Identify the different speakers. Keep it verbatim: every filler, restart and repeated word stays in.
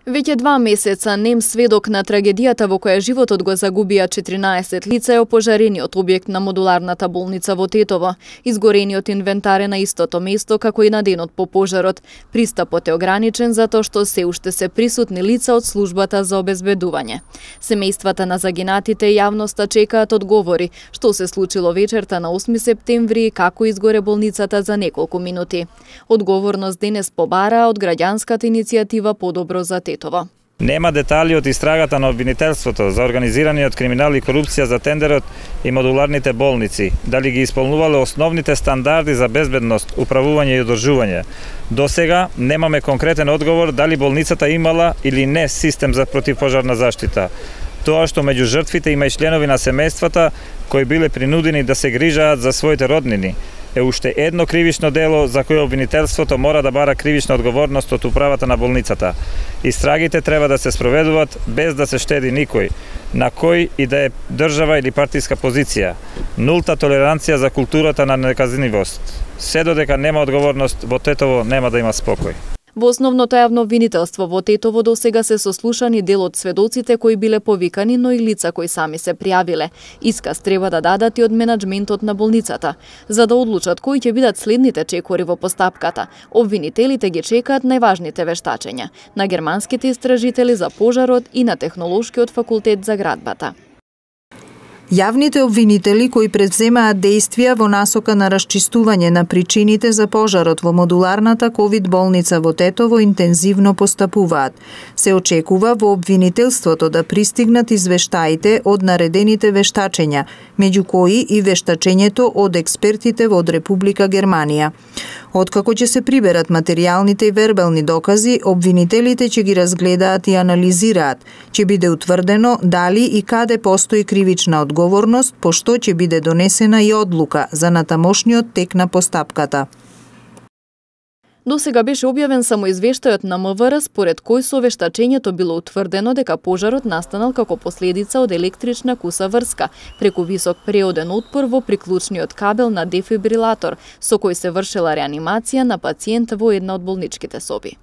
Speaker 1: Веќе два месеца нем сведок на трагедијата во која животот го загубија четиринаесет лица е опожарениот објект на модуларната болница во Тетово. Изгорениот инвентар е на истото место како и на денот по пожарот. Пристапот е ограничен затоа што се уште се присутни лица од службата за обезбедување. Семејствата на загинатите и јавноста чекаат одговори што се случило вечерта на осми септември и како изгоре болницата за неколку минути. Одговорност денес побараа од граѓанската иницијатива Подобро за Тетово.
Speaker 2: Нема детали од истрагата на обвинителството за организираниот криминал и корупција за тендерот и модуларните болници, дали ги исполнувале основните стандарди за безбедност, управување и одржување. До сега немаме конкретен одговор дали болницата имала или не систем за противпожарна заштита. Тоа што меѓу жртвите има и членови на семејствата кои биле принудени да се грижаат за своите роднини, е уште едно кривично дело за кое обвинителството мора да бара кривична одговорност од управата на болницата. Истрагите треба да се спроведуваат без да се штеди никој, на кој и да е држава или партиска позиција. Нулта толеранција за културата на неказнивост. Се додека нема одговорност, во Тетово нема да има спокој.
Speaker 1: Во основното јавно обвинителство во Тетово досега се сослушани дел од сведоците кои биле повикани, но и лица кои сами се пријавиле. Исказ треба да дадат и од менаџментот на болницата, за да одлучат кои ќе бидат следните чекори во постапката. Обвинителите ги чекаат најважните вештачења на германските истражители за пожарот и на Технолошкиот факултет за градбата.
Speaker 3: Јавните обвинители кои предземаат действија во насока на расчистување на причините за пожарот во модуларната ковид болница во Тетово интензивно постапуваат. Се очекува во обвинителството да пристигнат извештаите од наредените вештачења, меѓу кои и вештачењето од експертите од Република Германија. Откако ќе се приберат материјалните и вербални докази, обвинителите ќе ги разгледаат и анализираат. Ќе биде утврдено дали и каде постои кривична одговорност, пошто ќе биде донесена и одлука за натамошниот тек на постапката.
Speaker 1: До сега беше објавен само извештајот на МВР според кој со вештачењето било утврдено дека пожарот настанал како последица од електрична куса врска преку висок преоден отпор во приклучниот кабел на дефибрилатор со кој се вршела реанимација на пациент во една од болничките соби.